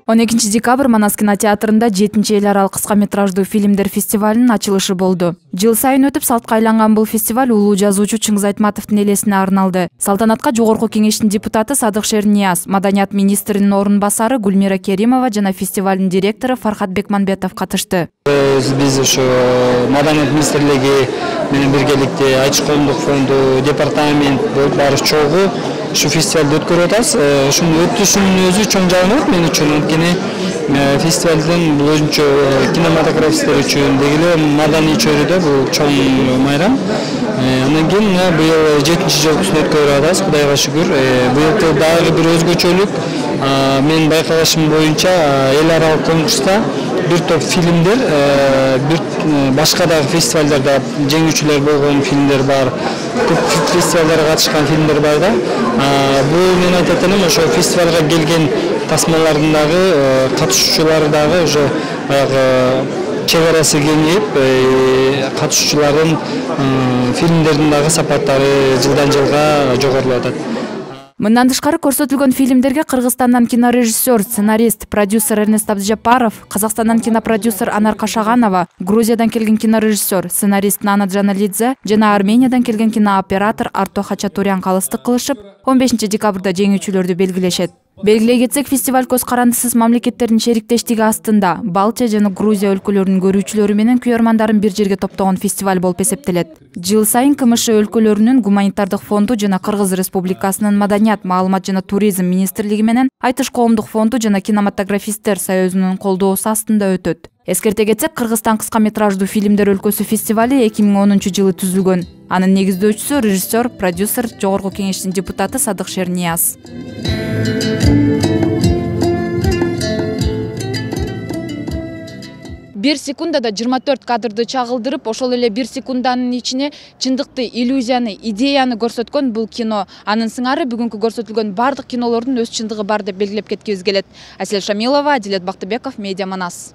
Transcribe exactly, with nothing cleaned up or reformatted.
он экинчи декабрь Манас кинотеатрында жетинчи эл аралык кыска метраждуу фильмдер фестивалынын ачылышы болду. Жыл сайын өтүп салтка айланган бул фестиваль улуу жазуучу Чыңгыз Айтматовдун элесине арналды. Салтанатка Жогорку Кеңештин депутаты Садык Шернияз, Маданият министринин орун басары Гүлмира Керимова жана фестивалдын директору Фархат Бекманбетов катышты. Биз ушу Маданият министрлиги менен биргеликте Айчы коомдук фонду, департамент баары чогуу ушу фестивалды өткөрүп атабыз. Ушунун өтүшүнүн өзү чоң жагымат мен үчүн. Анткени фестивалдын бул өзүнчө кинематографисттер үчүн дегеле маданий чөйрөдө бул чоң майрам. Андан кийин быйыл жетинчи жолкусун өткөрүп атабыз, Кудайга шүгүр. Быйыл дагы бир өзгөчөлүк. Мен байкалышым боюнча эл аралык конкурста бир топ фильмдер, бир башка дагы фестивалдарда жеңүүчүлөр болгон фильмдер бар. Көп фестивалдарга катышкан фильмдер бар да. Бул мен айтат элем, ошо фестивалга келген тасмалардын дагы катышуучулары дагы уже баягы чек арасы кеңейип, катышуучулардын фильмдердин дагы сапаттары жылдан жылга жогорулуп атат. Мындан тышкары көрсөтүлгөн фильмдерге Кыргызстандан кинорежиссер, сценарист, продюсер Эрнест Абдыжаппаров, Казакстандан кинопродюсер Анар Кашаганова, Грузиядан келген кинорежиссер, сценарист Нана Джаналидзе жана Армениядан келген кинооператор Арто Хачатурян калыстык кылышып, он бешинчи декабрда жеңүүчүлөрдү белгилешет. Белгилей кетсек, фестиваль көз карандысыз мамлекеттердин шериктештиги астында Балча жана Грузия өлкөлөрүнүн көрүүчүлөрү менен күйөрмандарын бир жерге топтогон фестиваль болуп эсептелет. Жыл сайын КМШ өлкөлөрүнүн гуманитардык фонду жана Кыргыз Республикасынын Маданият, маалымат жана туризм министрлиги менен Айтыш коомдук фонду жана кинематографисттер союзунун колдоосу астында өтөт. Эскерте кетсек, Кыргызстан кыска метраждуу фильмдер өлкөсү фестивали эки миң онунчу жылы түзүлгөн. Анын негиздөөчүсү режиссер, продюсер, Жогорку Кеңештин депутаты Садык Шернияз. Бир секундада жыйырма төрт кадрды чагылдырып, ошол эле бир секунданын ичине чындыкты, иллюзияны, идеяны көрсөткөн бул кино. Анын сыңары бүгүнкү көрсөтүлгөн бардык кинолордун өз чындыгы бар деп белгилеп кеткибиз келет. Асель Шамилова, Адилет Бактыбеков, Медиа Манас.